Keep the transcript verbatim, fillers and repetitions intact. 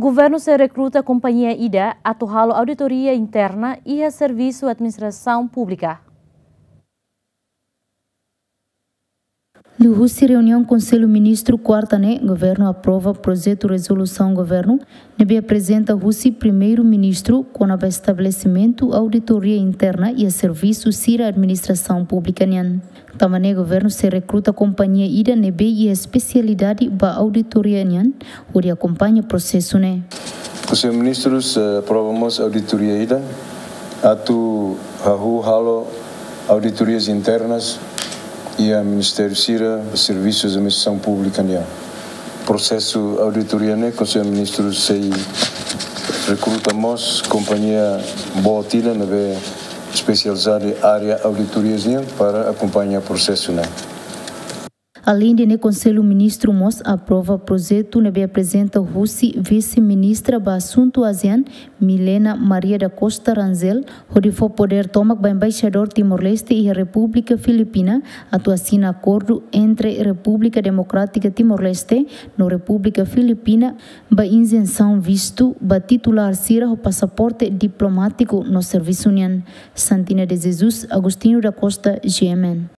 Governu sei rekruta kompañia ida atu halo auditoria interna iha servisu administrasaun públika. Liuhusi reuniaun Konsellu Ministru kuarta ne'e, governu aprova projetu rezolusaun governu ne'ebé aprezenta husi Primeiru-Ministru kona-ba estabelesimentu auditoria interna iha servisu sira administrasaun públika nian. Tanba ne'e governu sei rekruta kompañia ida ne'ebé iha espesialidade ba auditoria nian hodi akompaña prosesu ne'e. Konsellu Ministrus, eh, aprova mós auditoria ida atu hahú halo auditorias internas iha ministériu sira, servisu administrasaun públika nian. Prosesu auditoria ne'e, Konsellu Ministrus sei rekruta mós kompañia boot ida ne'ebé espesializadu iha área auditorias nian para akompaña prosesu ne'e. Aleinde ne'e, Konsellu Ministru mós aprova projetu ne'ebé aprezenta husi Vise-Ministra ba Asuntu ASEAN, Milena Maria da Costa Rangel, hodi fó podér tomak ba Embaixadór Timor-Leste iha Repúblika Filipina atu asina akordu entre Repúblika Demokrátika Timor-Leste no Repúblika Filipina ba izensaun vistu ba titulár sira ho pasaporte diplomátiku no servisu nian. Santina de Jesus, Agostinho da Costa, G M N.